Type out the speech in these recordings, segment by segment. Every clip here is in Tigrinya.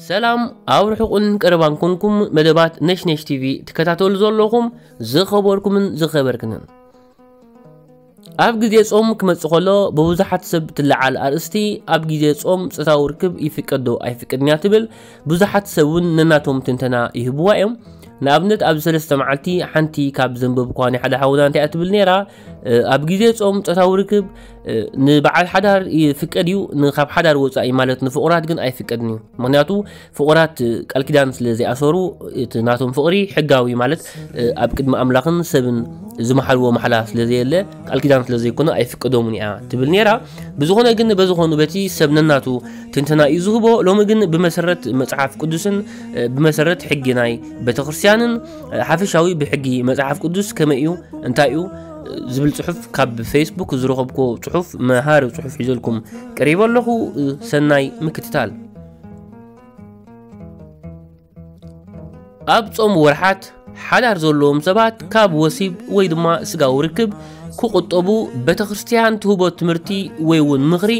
ሰላም፣ ኣብ ርሑቕን ቀረባን ኮንኩም መደባት ነሽነሽ ቲቪ ትከታተሉ ዘለኹም ዝኸበርኩምን ዝኸበርክንን። ኣብ ግዜ ጾም ክመጽእ ከሎ ብብዙሓት ሰብ ትለዓል ኣርእስቲ፣ ኣብ ግዜ ጾም ጾታዊ ርክብ ይፍቀድ ዶ ኣይፍቀድን እያ ትብል፣ ብዙሓት ሰብ እውን ነናቶም ትንተና ይህብዋ እዮም። ንኣብነት ኣብዚ ሰለስተ መዓልቲ ሓንቲ ካብ ዘንበብኳ ናይ ሓደ ሓውና እንታይ እያ ትብል ነይራ? እ፣ ኣብ ግዜ ጾም ጾታዊ ርክብ፣ እ፣ ንበዓል ሓዳር ይፍቀድ እዩ፣ ንካብ ሓዳር ወጻኢ ማለት ንፍቑራት ግን ኣይፍቀድን እዩ። ምኽንያቱ ፍቑራት ቃል ኪዳን ስለ ዘይኣሰሩ፣ እቲ ናቶም ፍቕሪ ሕጋዊ ማለት፣ እ፣ ኣብ ቅድሚ ኣምላኽን ሰብን ዝመሓልዎ ማሕላ ስለ ዘየለ፣ ቃል ኪዳን ስለ ዘይኮነ ኣይፍቀዶምን እያ ትብል ነይራ። ብዝኾነ ግን በዝኾኑ በቲ ሰብ ነናቱ ትንተና እዩ ዝህቦ። ሎሚ ግን ብመሰረት መጽሓፍ ቅዱስን፣ እ፣ ብመሰረት ሕጊ ናይ ቤተክርስትያንን፣ እ፣ ሓፈሻዊ ብሕጊ መጽሓፍ ቅዱስ ከመይ እዩ፣ እንታይ እዩ፣ እ፣ ዝብል ጽሑፍ ካብ ፌስቡክ ዝረኸብኩ ጽሑፍ፣ መሃሪ ጽሑፍ ሒዘልኩም ቀሪበ ኣለኹ። እ፣ ሰናይ ምክትታል። ኣብ ጾም ወርሓት ሓዳር ዘለዎም ሰባት ካብ ወሲብ ወይ ድማ ስጋዊ ርክብ ክቑጠቡ ቤተክርስትያን ትህቦ ትምህርቲ ወይ እውን ምኽሪ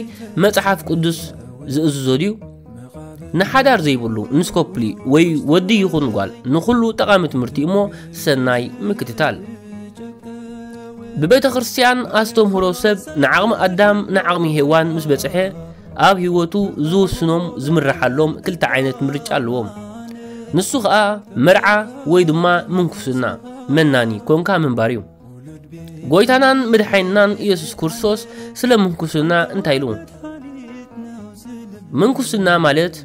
መጽሓፍ ቅዱስ ዝእዝዞ ድዩ? ንሓዳር ዘይብሉ፣ ንስኮፕሊ ወይ ወዲ ይኹን ጓል ንኹሉ ጠቓሚ ትምህርቲ እሞ ሰናይ ምክትታል። ብቤተክርስትያን ኣስተምህሮ ሰብ ንዓቕሚ ኣዳም ንዓቕሚ ሄዋን ምስ በጽሐ ኣብ ህይወቱ ዝውስኖም ዝምርሓሎም ክልተ ዓይነት ምርጫ ኣለዎም። ንሱ ኸኣ መርዓ ወይ ድማ ምንኩስና፣ መናኒ ኮንካ ምንባር እዩ። ጎይታናን መድሓኒናን ኢየሱስ ክርስቶስ ስለ ምንኩስና እንታይ ኢሉ? ምንኩስና ማለት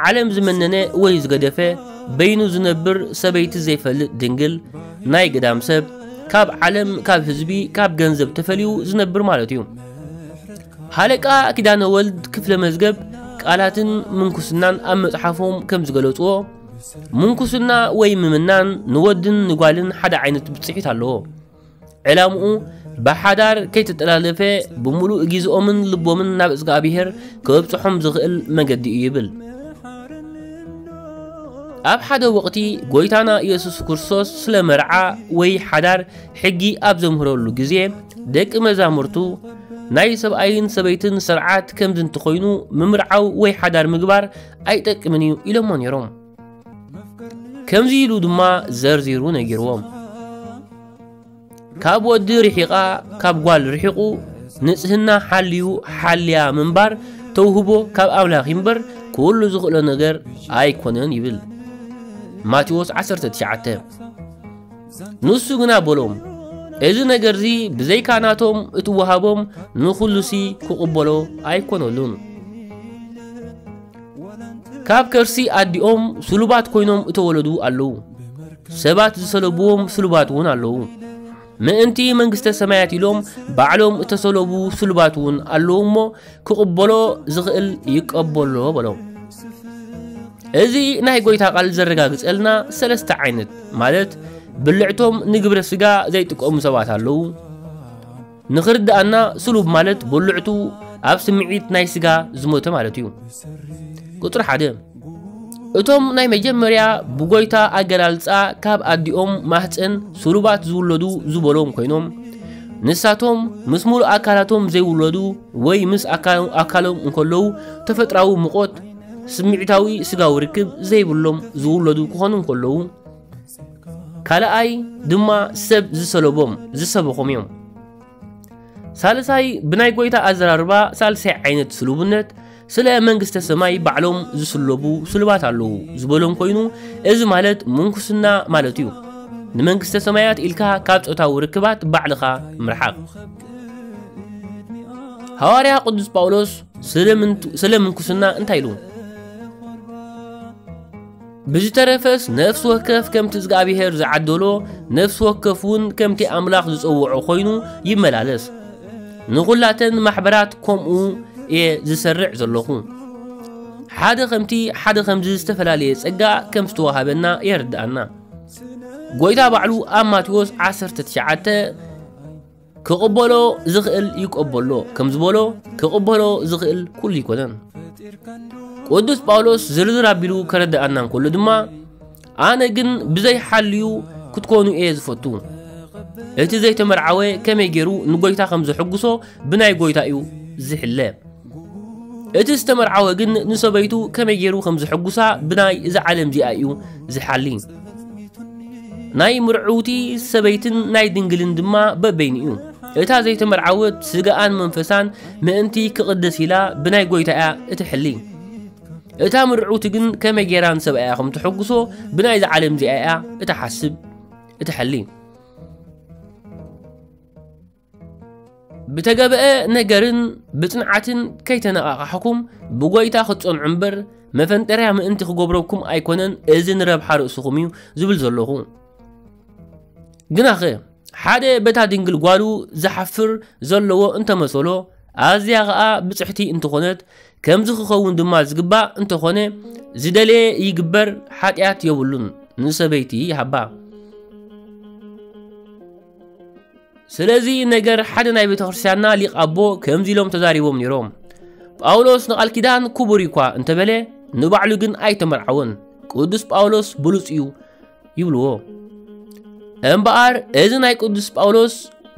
ዓለም ዝመነነ ወይ ዝገደፈ፣ በይኑ ዝነብር፣ ሰበይቲ ዘይፈልጥ ድንግል፣ ናይ ገዳም ሰብ፣ ካብ ዓለም፣ ካብ ህዝቢ፣ ካብ ገንዘብ ተፈልዩ ዝነብር ማለት እዩ። ሃለቃ ኪዳነ ወልድ ክፍለ መዝገብ ቃላትን ምንኩስናን ኣብ መጽሓፎም ከም ዝገለጽዎ፣ ምንኩስና ወይ ምምናን ንወድን ንጓልን ሓደ ዓይነት ብጽሒት ኣለዎ። ዕላምኡ ብሓዳር ከይተጠላለፈ ብምሉእ ግዜኦምን ልቦምን ናብ እግዚኣብሔር ከብጽሖም ዝኽእል መገዲ እዩ ይብል። ኣብ ሓደ ወቕቲ ጎይታና ኢየሱስ ክርስቶስ ስለ መርዓ ወይ ሓዳር ሕጊ ኣብ ዘምህረሉ ግዜ፣ ደቂ መዛሙርቱ ናይ ሰብኣይን ሰበይትን ስርዓት ከምዚ እንተኾይኑ ምምርዓው ወይ ሓዳር ምግባር ኣይጠቅምን እዩ ኢሎሞ ነይሮም። ከምዚ ኢሉ ድማ ዘርዚሩ ነጊርዎም። ካብ ወዲ ርሒቓ፣ ካብ ጓል ርሒቑ፣ ንጽህና ሓልዩ ሓልያ ምንባር ተውህቦ ካብ ኣምላኽ እምበር፣ ኩሉ ዝኽእሎ ነገር ኣይኮነን ይብል። ማቴዎስ ዓሰርተ ትሽዓተ። ንሱ ግና በሎም፣ እዚ ነገርዚ ብዘይካ ናቶም እትወሃቦም ንኹሉሲ ክቕበሎ ኣይኮነሉን። ካብ ከርሲ ኣዲኦም ስሉባት ኮይኖም እተወለዱ ኣለዉ። ሰባት ዝሰለብዎም ስሉባት እውን ኣለዉ። ምእንቲ መንግስተ ሰማያት ኢሎም ባዕሎም እተሰለቡ ስሉባት እውን ኣለዉ እሞ፣ ክቕበሎ ዝኽእል ይቀበሎ በሎም። እዚ ናይ ጎይታ ቃል ዘረጋግጸልና ሰለስተ ዓይነት፣ ማለት ብልዕቶም ንግብረ ስጋ ዘይጥቀሙ ሰባት ኣለዉ። ንኽርድኣና፣ ስሉብ ማለት ብልዕቱ ኣብ ስምዒት ናይ ስጋ ዝሞተ ማለት እዩ። ቁጽሪ ሓደ፣ እቶም ናይ መጀመርያ ብጎይታ ኣገላልጻ ካብ ኣዲኦም ማህጸን ስሉባት ዝውለዱ ዝበሎም ኮይኖም፣ ንሳቶም ምስ ሙሉእ ኣካላቶም ዘይውለዱ ወይ ምስ ኣካ-፣ ኣካሎም እንከለዉ ተፈጥራዊ ምቖት፣ ስምዒታዊ ስጋዊ ርክብ ዘይብሎም ዝውለዱ ክኾኑ እንከለዉ፣ ካልኣይ ድማ ሰብ ዝሰለቦም፣ ዝሰበኾም እዮም። ሳልሳይ፣ ብናይ ጎይታ ኣዘራርባ ሳልሳይ ዓይነት ስሉብነት፣ ስለ መንግስተ ሰማይ ባዕሎም ዝስለቡ ስሉባት ኣለዉ ዝበሎም ኮይኑ፣ እዚ ማለት ምንኩስና ማለት እዩ። ንመንግስተ ሰማያት ኢልካ ካብ ጾታዊ ርክባት ባዕልኻ ምርሓቕ። ሃዋርያ ቅዱስ ጳውሎስ ስለ ምንቱ-፣ ስለ ምንኩስና እንታይ ኢሉ? ብዝተረፈስ ነፍሲ ወከፍ ከምቲ እግዚኣብሔር ዝዓደሎ፣ ነፍሲ ወከፍ እውን ከምቲ ኣምላኽ ዝጸውዖ ኮይኑ ይመላለስ። ንኹላተን ማሕበራት ከምኡ እየ ዝሰርዕ ዘለኹ። ሓደ ከምቲ ሓደ ከምዚ ዝተፈላለየ ጸጋ ከም ዝተዋሃበና የርድኣና። ጎይታ ባዕሉ ኣብ ማቴዎስ ዓሰርተ ትሽዓተ ክቕበሎ ዝኽእል ይቀበሎ ከም ዝበሎ፣ ክቕበሎ ዝኽእል ኩሉ ኣይኮነን። ቅዱስ ጳውሎስ ዝርዝር ኣቢሉ ከረድኣና እንከሎ ድማ፣ ኣነ ግን ብዘይ ሓልዩ ክትኮኑ እየ ዝፈቱ። እቲ ዘይተመርዓወ ከመይ ገይሩ ንጎይታ ከም ዘሐጉሶ ብናይ ጎይታ እዩ ዝሕለ። እቲ ዝተመርዓወ ግን ንሰበይቱ ከመይ ገይሩ ከም ዝሕጉሳ ብናይ እዛ ዓለም እዚኣ እዩ ዝሓሊ። ናይ ምርዕውቲ ሰበይትን ናይ ድንግልን ድማ በበይኑ እዩ። እታ ዘይተመርዓወት ስጋኣን መንፈሳን ምእንቲ ክቕደስ ኢላ ብናይ ጎይታ እያ እትሕሊ። እታ ምርዕውቲ ግን ከመይ ገይራ ንሰብኣያ ከም ትሕጉሶ ብናይዛ ዓለም እዚኣ እያ እትሓስብ፣ እትሕሊ። ብተገበአ ነገርን ብጽንዓትን ከይተነቓቓሕኩም ብጎይታ ክትጸንዑ እምበር፣ መፈንጠርያ ምእንቲ ክገብረኩም ኣይኮነን፣ እዚ ንረብሓ ርእስኹም እዩ ዝብል ዘለኹ። ግናኸ ሓደ በታ ድንግል ጓሉ ዝሓፍር ዘለዎ እንተመሰሎ፣ ኣዝያ ኸኣ ብጽሕቲ እንተኾነት፣ ከምዚ ክኸውን ድማ ዝግባእ እንተኾነ፣ ዝደለየ ይግበር፣ ሓጢኣት የብሉን፣ ንሰበይቲ ይሃባ። ስለዚ ነገር ሓደ ናይ ቤተ ክርስቲያንና ሊቕ ኣቦ ከምዚ ኢሎም ተዛሪቦም ነይሮም። ጳውሎስ ንቓል ኪዳን ክቡር እኳ እንተበለ፣ ንባዕሉ ግን ኣይተመርዓወን። ቅዱስ ጳውሎስ ብሉጽ እዩ ይብልዎ። እምበኣር እዚ ናይ ቅዱስ ጳውሎስ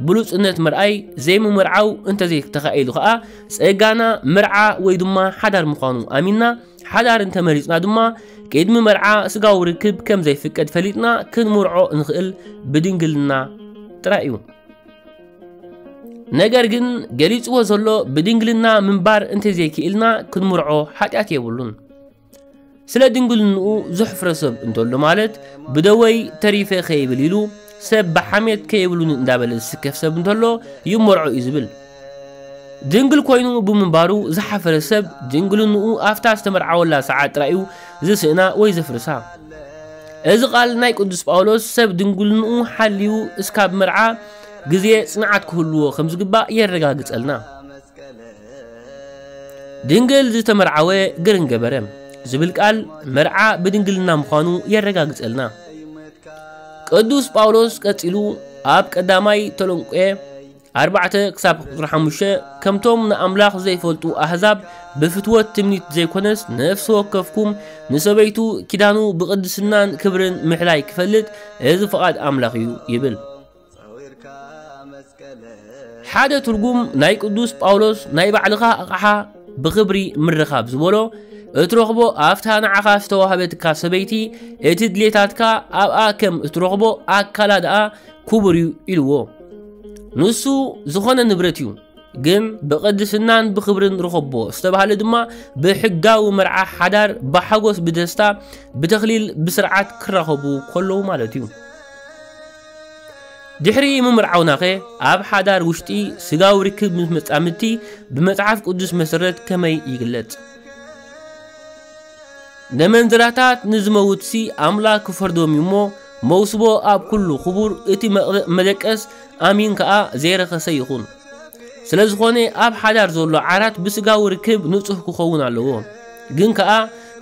ብሉጽነት ምርኣይ ዘይምምርዓው እንተዘይተኻኢሉ ኸኣ፣ ጸጋና መርዓ ወይ ድማ ሓዳር ምዃኑ ኣሚንና፣ ሓዳር እንተመሪጽና ድማ፣ ቅድሚ መርዓ ስጋዊ ርክብ ከም ዘይፍቀድ ፈሊጥና ክንምርዖ እንኽእል ብድንግልና ጥራይ እዩ። ነገር ግን ገሊጽዎ ዘሎ ብድንግልና ምንባር እንተዘይክኢልና ክንምርዖ ሓጢኣት የብሉን። ስለ ድንግልንኡ ዘሕፍረ ሰብ እንተሎ ማለት ብደወይ ተሪፈ ከይብል ኢሉ ሰብ ብሓሜት ከይብሉኒ እንዳበለ ዝስከፍ ሰብ እንተሎ ይመርዖ እዩ ዝብል። ድንግል ኮይኑ ብምንባሩ ዝሓፈረ ሰብ ድንግልንኡ ኣብታ ዝተመርዓወላ ሰዓት ጥራይ እዩ ዝስእና ወይ ዘፍርሳ። እዚ ቃል ናይ ቅዱስ ጳውሎስ ሰብ ድንግልንኡ ሓልዩ እስካብ መርዓ ግዜ ጽንዓት ክህልዎ ከም ዝግባእ የረጋግጸልና። ድንግል ዝተመርዓወ ግርን ገበረ ዝብል ቃል መርዓ ብድንግልና ምዃኑ የረጋግጸልና። ቅዱስ ጳውሎስ ቀጺሉ ኣብ ቀዳማይ ተሎንቄ ኣርባዕተ ክሳብ ቁጽሪ ሓሙሽተ፣ ከምቶም ንኣምላኽ ዘይፈልጡ ኣህዛብ ብፍትወት ትምኒት ዘይኮነስ፣ ነፍሲ ወከፍኩም ንሰበይቱ ኪዳኑ ብቕድስናን ክብርን ምሕላይ ክፈልጥ፣ እዚ ፍቓድ ኣምላኽ እዩ ይብል። ሓደ ትርጉም ናይ ቅዱስ ጳውሎስ ናይ ባዕልኻ ኣቕሓ ብኽብሪ ምርኻብ ዝበሎ፣ እትረኽቦ ኣብታ ንዓኻ ዝተዋህበትካ ሰበይቲ እቲ ድሌታትካ ኣብኣ ከም እትረኽቦ ኣካላ ደኣ ክቡር እዩ ኢልዎ። ንሱ ዝኾነ ንብረት እዩ፣ ግን ብቕድስናን ብኽብርን ርኸቦ ዝተባህለ ድማ ብሕጋዊ መርዓ ሓዳር ብሓጎስ ብደስታ ብተኽሊል ብስርዓት ክራኸቡ ከለዉ ማለት እዩ። ድሕሪ ምምርዓውናኸ ኣብ ሓዳር ውሽጢ ስጋዊ ርክብ ምስ መጻምድቲ ብመጽሓፍ ቅዱስ መሰረት ከመይ ይግለጽ? ነመንዝራታት ንዝመውትሲ ኣምላኽ ክፈርዶም እዩ እሞ፣ መውስቦ ኣብ ኩሉ ክቡር፣ እቲ መቕ-፣ መደቀስ ኣሚን ከኣ ዘይረኸሰ ይኹን። ስለ ዝኾነ ኣብ ሓዳር ዘሎ ዓራት ብስጋዊ ርክብ ንጹህ ክኸውን ኣለዎ። ግን ከኣ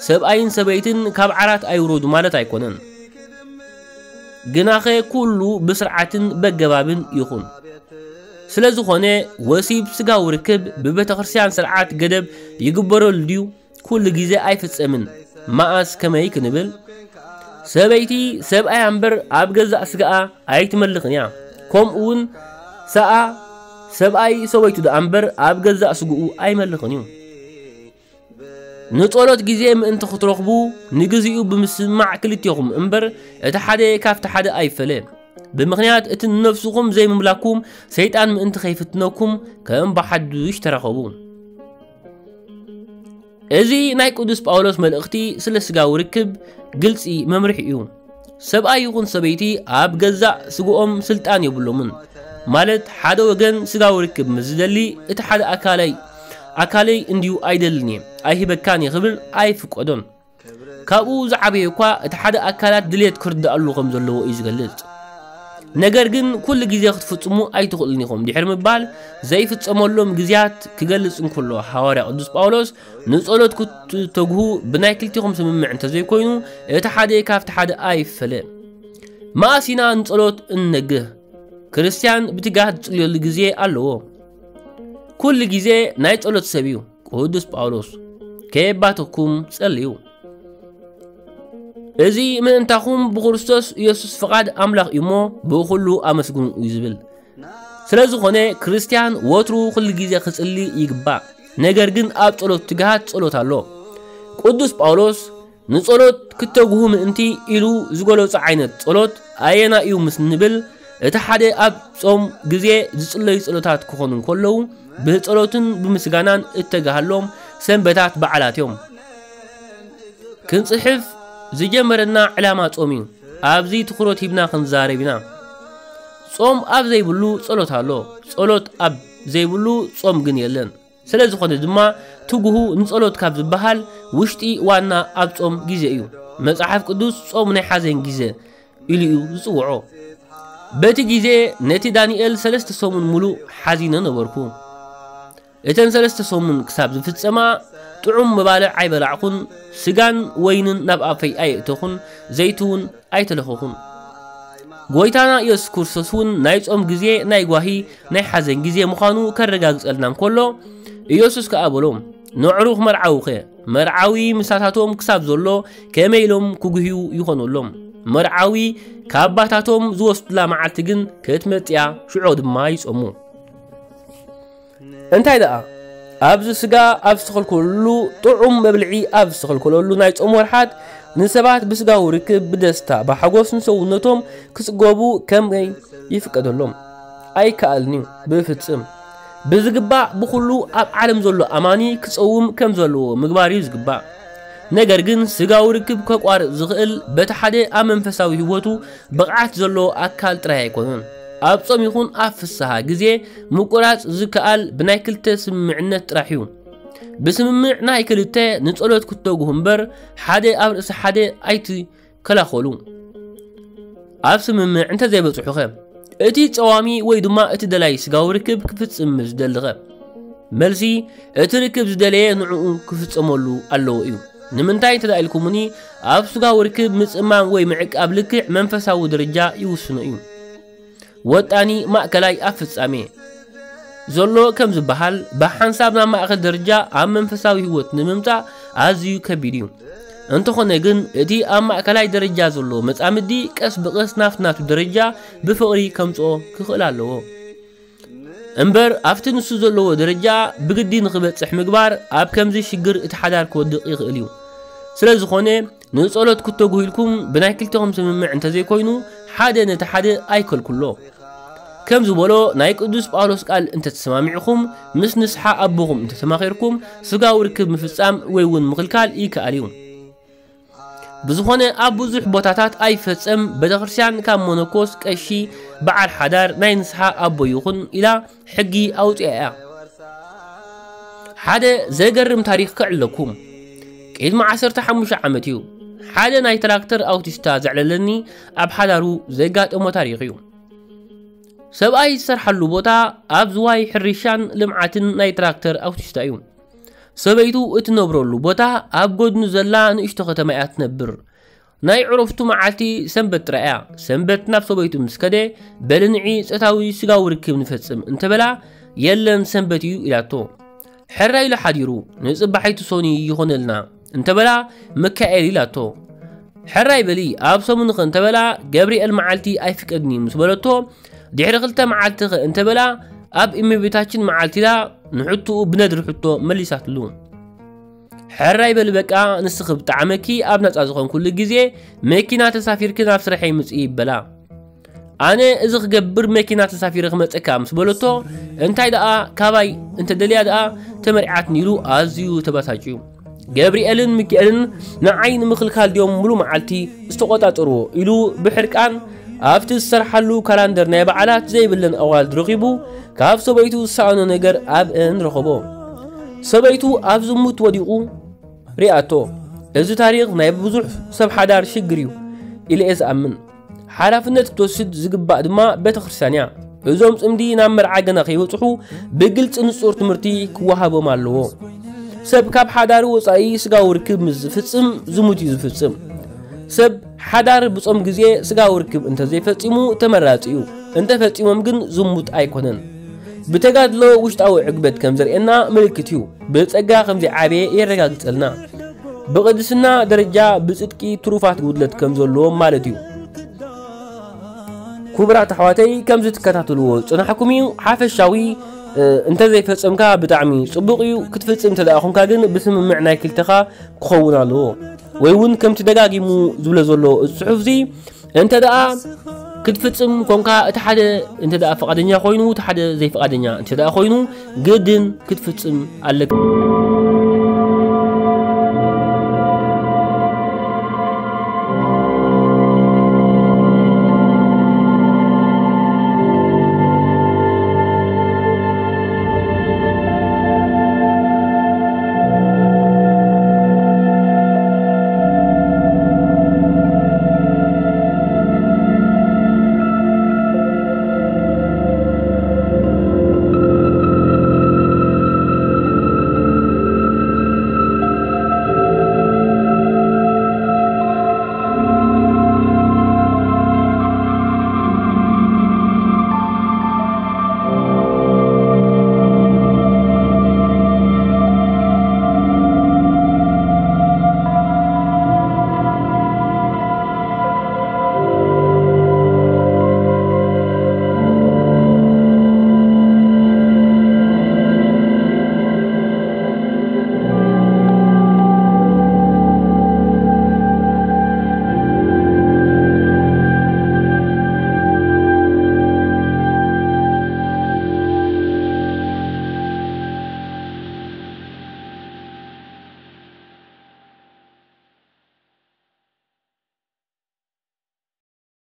ሰብኣይን ሰበይትን ካብ ዓራት ኣይውረዱ ማለት ኣይኮነን። ግናኸ ኩሉ ብስርዓትን በገባብን ይኹን። ስለ ዝኾነ ወሲብ ስጋዊ ርክብ ብቤተ ክርስቲያን ስርዓት ገደብ ይግበረሉ ድዩ? ኩሉ ግዜ ኣይፍጸምን። መኣስ ከመይ ክንብል፣ ሰበይቲ ሰብኣያ እምበር ኣብ ገዛእ ስጋኣ ኣይትመልኽን እያ። ከምኡ እውን ሰኣ ሰብኣይ ሰበይቱ ደኣ እምበር ኣብ ገዛእ ስግኡ ኣይመልኽን እዩ። ንጸሎት ግዜ ምእንቲ ክትረኽቡ ንግዚኡ ብምስማዕ ክልቴኹም እምበር እቲ ሓደ ካብቲ ሓደ ኣይፈለ። ብምኽንያት እቲ ንነፍስኹም ዘይምምላኩም ሰይጣን ምእንቲ ከይፍትነኩም ከም ብሓዱሽ ተራኸቡ። እዚ ናይ ቅዱስ ጳውሎስ መልእኽቲ ስለ ስጋዊ ርክብ ግልጺ መምርሒ እዩ። ሰብኣይ ይኹን ሰበይቲ ኣብ ገዛእ ስግኦም ስልጣን የብሎምን። ማለት ሓደ ወገን ስጋዊ ርክብ ምስ ዝደሊ እቲ ሓደ ኣካለይ፣ ኣካለይ እንድዩ ኣይደልን እየ፣ ኣይህበካን እየ ክብል ኣይፍቀዶን። ካብኡ ዝዓበየ እኳ እቲ ሓደ ኣካላት ድሌት ክርድኣሉ ከም ዘለዎ እዩ ዝገልጽ። ነገር ግን ኩሉ ግዜ ክትፍጽሙ ኣይትኽእሉን ኢኹም ድሕሪ ምባል ዘይፍጸመሎም ግዜያት ክገልጽ እንከሎ ሃዋርያ ቅዱስ ጳውሎስ ንጸሎት ክትተግሁ ብናይ ክልቲኹም ስምምዕ እንተዘይኮይኑ እቲ ሓደ ካብቲ ሓደ ኣይፈለ። መኣስ ኢና ንጸሎት እንነግህ? ክርስትያን ብትግሃት ዝጽልየሉ ግዜ ኣለዎ። ኩሉ ግዜ ናይ ጸሎት ሰብ እዩ። ቅዱስ ጳውሎስ ከየባተኩም ጸልዩ። እዚ ምእንታኹም ብክርስቶስ ኢየሱስ ፍቓድ ኣምላኽ እዩ እሞ ብኹሉ ኣመስግኑ እዩ ዝብል። ስለ ዝኾነ ክርስትያን ወትሩ ኩሉ ግዜ ክጽሊ ይግባእ። ነገር ግን ኣብ ጸሎት ትግሃት ጸሎት ኣሎ። ቅዱስ ጳውሎስ ንጸሎት ክተግሁ ምእንቲ ኢሉ ዝገለጾ ዓይነት ጸሎት ኣየና እዩ ምስ ንብል፣ እቲ ሓደ ኣብ ጾም ግዜ ዝጽለዩ ጸሎታት ክኾኑ እንከለዉ፣ ብጸሎትን ብምስጋናን እተጋሃሎም ሰንበታት በዓላት እዮም። ክንጽሕፍ ዝጀመረና ዕላማ ጾም እዩ። ኣብዚ ትኹረት ሂብና ክንዛረብ ኢና። ጾም ኣብ ዘይብሉ ጸሎት ኣሎ፣ ጸሎት ኣብ ዘይብሉ ጾም ግን የለን። ስለ ዝኾነ ድማ ትጉሁ ንጸሎት ካብ ዝበሃል ውሽጢ ዋና ኣብ ጾም ግዜ እዩ። መጽሓፍ ቅዱስ ጾም ናይ ሓዘን ግዜ ኢሉ እዩ ዝጽውዖ። በቲ ግዜ ነቲ ዳንኤል ሰለስተ ሰሙን ሙሉእ ሓዚነ ነበርኩ። እተን ሰለስተ ሰሙን ክሳብ ዝፍጸማ ጥዑም መባልዕ ኣይበላዕኹን፣ ስጋን ወይንን ናብ ኣፈይ ኣየእተኹን፣ ዘይቲ እውን ኣይተለኸኹን። ጎይታና ኢየሱስ ክርስቶስ እውን ናይ ጾም ግዜ ናይ ጓሂ ናይ ሓዘን ግዜ ምዃኑ ከረጋግጸልና እንከሎ፣ ኢየሱስ ከኣ በሎም፣ "ነዕሩኽ መርዓውኸ?" መርዓዊ ምሳታቶም ክሳብ ዘሎ ከመይ ኢሎም ክጉህዩ ይኾነሎም? መርዓዊ ካብ ኣባታቶም ዝወስዱላ መዓልቲ ግን ክትመጽያ ሽዑ ድማ ይጾሙ። እንታይ ደኣ? ኣብዚ ስጋ ኣብ ዝተኸልከለሉ፣ ጥዑም መብልዒ ኣብ ዝተኸልከለሉ ናይ ጾም ወርሓት፣ ንሰባት ብስጋዊ ርክብ ብደስታ፣ ብሓጎስ ንሰውነቶም ክጽገቡ ከመይ ይፍቀደሎም? ኣይከኣልን እዩ፣ ብፍጽም። ብዝግባእ ብኹሉ ኣብ ዓለም ዘሎ ኣማኒ ክጸውም ከም ዘለዎ ምግባር እዩ ዝግባእ። ነገር ግን ስጋዊ ርክብ ከቋርጽ ዝኽእል በቲ ሓደ ኣብ መንፈሳዊ ህይወቱ ብቕዓት ዘለዎ ኣካል ጥራይ ኣይኮነን። ኣብ ጾም ይኹን ኣብ ፍስሃ ግዜ ምቁራጽ ዝከኣል ብናይ ክልተ ስምምዕነት ጥራሕ እዩ። ብስምምዕ ናይ ክልተ ንጸሎት ክትተግሁ እምበር ሓደ ኣብ ርእሲ ሓደ ኣይትከላኸሉ። ኣብ ስምምዕ እንተዘይበጽሑኸ? እቲ ጸዋሚ ወይ ድማ እቲ ደላይ ስጋዊ ርክብ ክፍጽም ምስ ዝደልኸ? መልሲ፣ እቲ ርክብ ዝደለየ ንዕኡ ክፍጸመሉ ኣለዎ እዩ። ንምንታይ እንተ ኢልኩምኒ፣ ኣብ ስጋዊ ርክብ ምጽማም ወይ ምዕቃብ ልክዕ መንፈሳዊ ደረጃ ይውስኖ እዩ። ወጣኒ ማእከላይ ኣብ ፍጻሜ ዘሎ ከም ዝበሃል፣ ብሓንሳብ ናብ ማእከል ደረጃ ኣብ መንፈሳዊ ህይወት ንምምጻእ ኣዝዩ ከቢድ እዩ። እንተኾነ ግን፣ እቲ ኣብ ማእከላይ ደረጃ ዘሎ መጻምዲ ቀስ ብቐስ ናብቲ ናቱ ደረጃ ብፍቕሪ ከምጽኦ ክኽእል ኣለዎ። እምበር ኣብቲ ንሱ ዘለዎ ደረጃ ብግዲ ንኽበጽሕ ምግባር ኣብ ከምዚ ሽግር እቲ ሓዳር ክወድቕ ይኽእል እዩ። ስለ ዝኾነ ንጸሎት ክትተግሁ ኢልኩም ብናይ ክልተኹም ስምምዕ እንተዘይኮይኑ ሓደ ነቲ ሓደ ኣይከልኩሎ። ከም ዝበሎ ናይ ቅዱስ ጳውሎስ ቃል እንተተሰማሚዕኹም ምስ ንስሓ ኣቦኹም እንተተማኺርኩም ስጋዊ ርክብ ምፍጻም ወይ እውን ምኽልካል ይከኣል እዩ። ብዝኾነ ኣብ ብዙሕ ቦታታት ኣይፈጸም ቤተክርስትያን ካብ መነኮስ ቀሺ በዓል ሓዳር ናይ ንስሓ ኣቦ ይኹን ኢላ ሕጊ ኣውጺኣ እያ። ሓደ ዘገርም ታሪኽ ከዕለኩም። ቅድሚ ዓሰርተ ሓሙሽተ ዓመት እዩ ሓደ ናይ ትራክተር ኣውቲስታ ዘዕለለኒ ኣብ ሓዳሩ ዘጋጠሞ ታሪኽ እዩ። ሰብኣይ ዝሰርሓሉ ቦታ ኣብ ዝዋይ ሕርሻን ልምዓትን ናይ ትራክተር ኣውቲስታ እዩ። ሰበይቱ እትነብረሉ ቦታ ኣብ ጎድኑ ዘላ ንእሽቶ ከተማ እያ ትነብር። ናይ ዕረፍቱ መዓልቲ ሰንበት ጥራይ እያ። ሰንበት ናብ ሰበይቱ ምስ ከደ፣ "በሊ ንዒ ጾታዊ ስጋዊ ርክብ ንፈጽም" እንተበላ፣ "የለን ሰንበት እዩ" ኢላቶ። "ሕራይ ኢሉ ሓዲሩ፣ ንጽባሒቱ ሰኑይ ይኾነልና" እንተበላ፣ "ሚካኤል" ኢላቶ። "ሕራይ በሊ ኣብ ሰሙንኸ" እንተበላ፣ "ገብርኤል መዓልቲ ኣይፍቀድን እዩ" ምስ በለቶ፣ ድሕሪ ክልተ መዓልቲ ኸ እንተበላ፣ ኣብ እመቤታችን መዓልቲ ኢላ ንሕቶኡ ብነድሪ ሕቶ መሊሳትሉ። "ሕራይ በሊ በቃ፣ ንስኺ ብጣዕመኪ ኣብ ናጻ ዝኾንኩሉ ግዜ መኪና ተሳፊርኪ ናብ ስራሐይ ምጽኢ" ይበላ። ኣነ እዚ ክገብር መኪና ተሳፊረ ክመጸካ ምስ በለቶ፣ እንታይ ደኣ ካባይ እንተደልያ ደኣ ተመርዓትኒ ኢሉ ኣዝዩ ተባሳጭዩ። ገብርኤልን ሚካኤልን ንዓይ ንምኽልካል ድዮም ሙሉ መዓልቲ ዝተቖጻጸርዎ ኢሉ ብሕርቃን ኣብቲ ዝሰርሓሉ ካላንደር ናይ በዓላት ዘይብለን ኣዋልድ ረኺቡ ካብ ሰበይቱ ዝሰኣኖ ነገር ኣብአን ረኸቦ። ሰበይቱ ኣብ ዝሙት ወዲቑ ሪኣቶ። እዚ ታሪኽ ናይ ብዙሕ ሰብ ሓዳር ሽግር እዩ ኢለ እየ ዝኣምን። ሓላፍነት ክትወስድ ዝግባእ ድማ ቤተ ክርስቲያን እያ። እዞም ጽምዲ ናብ መርዓ ገና ከይበጽሑ ብግልጺ ንጹር ትምህርቲ ክወሃቦም ኣለዎ። ሰብ ካብ ሓዳሩ ወጻኢ ስጋዊ ርክብ ምስ ዝፍጽም ዝሙት እዩ ዝፍጽም። ሰብ ሓዳር ብጾም ግዜ ስጋዊ ርክብ እንተዘይፈጺሙ ተመራጺ እዩ። እንተፈጺሞም ግን ዝሙት ኣይኮነን። ብተጋድሎ ውሽጣዊ ዕግበት ከም ዘርእየና ምልክት እዩ። ብጸጋ ከም ዘይዓበየ የረጋግጸልና። ብቕድስና ደረጃ ብጽድቂ ትሩፋት ጉድለት ከም ዘለዎ ማለት እዩ። ክቡራት ኣሕዋተይ፣ ከምዚ ትከታተልዎ ዝጸናሕኩም እዩ ሓፈሻዊ እንተ ዘይፈጸምካ ብጣዕሚ ጽቡቕ እዩ። ክትፍጽም እንተ ደኣ ኾንካ ግን ብስምምዕ ናይ ክልተኻ ክኸውን ኣለዎ። ወይ እውን ከምቲ ደጋጊሙ ዝብሎ ዘሎ እዚ ጽሑፍ እዚ እንተ ደኣ ክትፍጽም ኮንካ እቲ ሓደ እንተ ደኣ ፍቓደኛ ኮይኑ እቲ ሓደ ዘይፍቓደኛ እንተ ደኣ ኮይኑ ግድን ክትፍጽም ኣለካ።